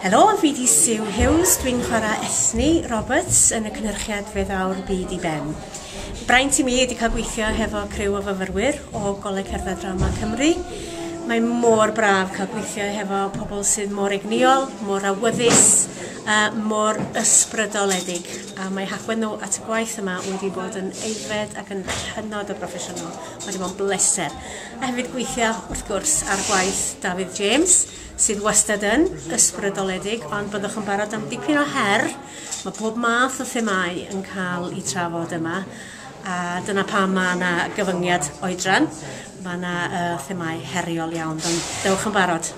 Helo, fi 'di Sue Hughes, dwi'n chwarae Ethni Roberts yn y cynhyrchiad Fe Ddaw'r Byd i Ben. Braint i mi ydi cael gweithio hefo criw o fyfyrwyr o Goleg Cerdd a Drama Cymru. Mae mor braf cael gweithio hefo pobl sydd mor egnïol, mor awyddus, uh, mor ysbrydoledig. A mae hagwedd nhw at y gwaith yma wedi bod yn aeddfed ac yn hynod o broffesiynol. Mae wedi bod yn bleser. A hefyd gweithio, wrth gwrs, ar gwaith Dafydd James, sydd wastad yn ysbrydoledig, ond byddwch yn barod am dipyn o her. Mae pob math o themâu yn cael eu trafod yma, a dyna pam mae yna gyfyngiad oedran. Mae yna uh, themâu heriol iawn, ond dewch yn barod.